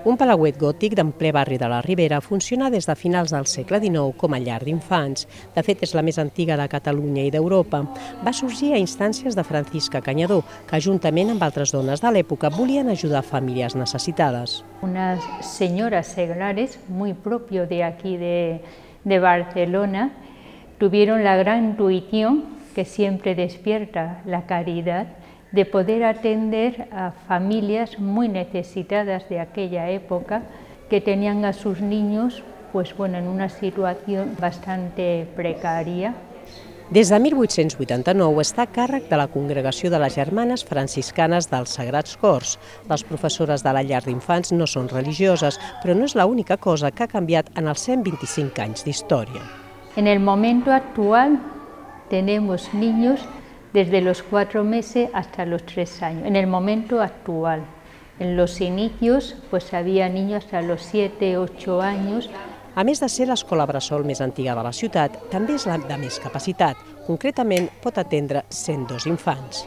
Un palauet gòtic d'en ple barri de la Ribera funciona des de finals del segle XIX com a llar d'infants. De fet, és la més antiga de Catalunya i d'Europa. Va sorgir a instàncies de Francisca Cañadó, que juntament amb altres dones de l'època volien ajudar famílies necessitades. Unas señoras seglares, muy propio de aquí de Barcelona, tuvieron la gran intuición que siempre despierta la caridad de poder atender a familias muy necesitadas de aquella época que tenían a sus niños en una situación bastante precaria. Des de 1889 està a càrrec de la Congregació de les Germanes Franciscanes dels Sagrats Cors. Les professores de la llar d'infants no són religioses, però no és l'única cosa que ha canviat en els 125 anys d'història. En el momento actual tenemos niños desde los 4 meses hasta los 3 años, en el momento actual. En los inicios había niños hasta los 7, 8 años. A més de ser l'escola bressol més antiga de la ciutat, també és la de més capacitat. Concretament, pot atendre 102 infants.